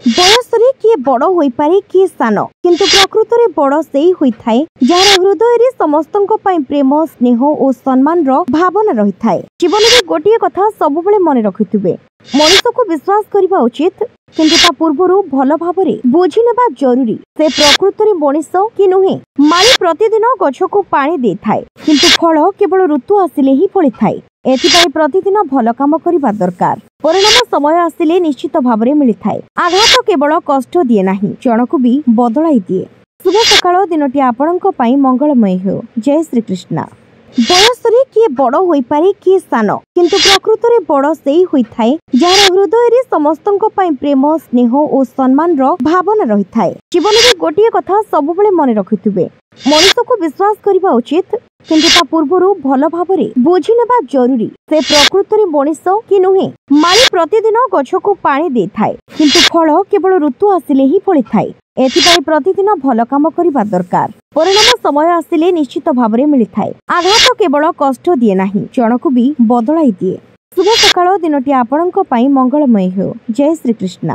ବୟସରେ କିଏ ବଡ଼ ହୋଇପାରେ, କିଏ ସାନ, କିନ୍ତୁ ପ୍ରକୃତରେ ବଡ଼ ସେଇ ହୋଇଥାଏ ଯାହାର ହୃଦୟରେ ସମସ୍ତଙ୍କ ପାଇଁ ପ୍ରେମ, ସ୍ନେହ ଓ ସମ୍ମାନର ଭାବନା ରହିଥାଏ। ଜୀବନରେ ଗୋଟିଏ କଥା ସବୁବେଳେ ମନେ ରଖିଥିବେ, ମଣିଷକୁ ବିଶ୍ୱାସ କରିବା ଉଚିତ, କିନ୍ତୁ ତା ପୂର୍ବରୁ ଭଲ ଭାବରେ ବୁଝିନେବା ଜରୁରୀ ସେ ପ୍ରକୃତରେ ମଣିଷ କି ନୁହେଁ। ମାଳି ପ୍ରତିଦିନ ଗଛକୁ ପାଣି ଦେଇଥାଏ, କିନ୍ତୁ ଫଳ କେବଳ ଋତୁ ଆସିଲେ ହିଁ ଫଳିଥାଏ। ଏଥିପାଇଁ ପ୍ରତିଦିନ ଭଲ କାମ କରିବା ଦରକାର, ପରିଣାମ ସମୟ ଆସିଲେ ନିଶ୍ଚିତ ଭାବରେ ମିଳିଥାଏ। ଆଘାତ କେବଳ କଷ୍ଟ ଦିଏ ନାହିଁ, ଜଣକୁ ବି ବଦଳାଇ ଦିଏ। ଶୁଭ ସକାଳ, ଦିନଟି ଆପଣଙ୍କ ପାଇଁ ମଙ୍ଗଳମୟ ହେଉ। ଜୟ ଶ୍ରୀକୃଷ୍ଣ। ବୟସରେ କିଏ ବଡ଼ ହୋଇପାରେ, କିଏ ସାନ, କିନ୍ତୁ ପ୍ରକୃତରେ ବଡ଼ ସେଇ ହୋଇଥାଏ ଯାହାର ହୃଦୟରେ ସମସ୍ତଙ୍କ ପାଇଁ ପ୍ରେମ, ସ୍ନେହ ଓ ସମ୍ମାନର ଭାବନା ରହିଥାଏ। ଜୀବନରେ ଗୋଟିଏ କଥା ସବୁବେଳେ ମନେ ରଖିଥିବେ, ମଣିଷକୁ ବିଶ୍ୱାସ କରିବା ଉଚିତ, କିନ୍ତୁ ତା ପୂର୍ବରୁ ଭଲ ଭାବରେ ବୁଝିନେବା ଜରୁରୀ ସେ ପ୍ରକୃତରେ ମଣିଷ କି ନୁହେଁ। ମାଳି ପ୍ରତିଦିନ ଗଛକୁ ପାଣି ଦେଇଥାଏ, କିନ୍ତୁ ଫଳ କେବଳ ଋତୁ ଆସିଲେ ହିଁ ଫଳିଥାଏ। ଏଥିପାଇଁ ପ୍ରତିଦିନ ଭଲ କାମ କରିବା ଦରକାର, ପରିଣାମ ସମୟ ଆସିଲେ ନିଶ୍ଚିତ ଭାବରେ ମିଳିଥାଏ। ଆଘାତ କେବଳ କଷ୍ଟ ଦିଏ ନାହିଁ, ଜଣକୁ ବି ବଦଳାଇ ଦିଏ। ଶୁଭ ସକାଳ, ଦିନଟି ଆପଣଙ୍କ ପାଇଁ ମଙ୍ଗଳମୟ ହେଉ। ଜୟ ଶ୍ରୀକୃଷ୍ଣ।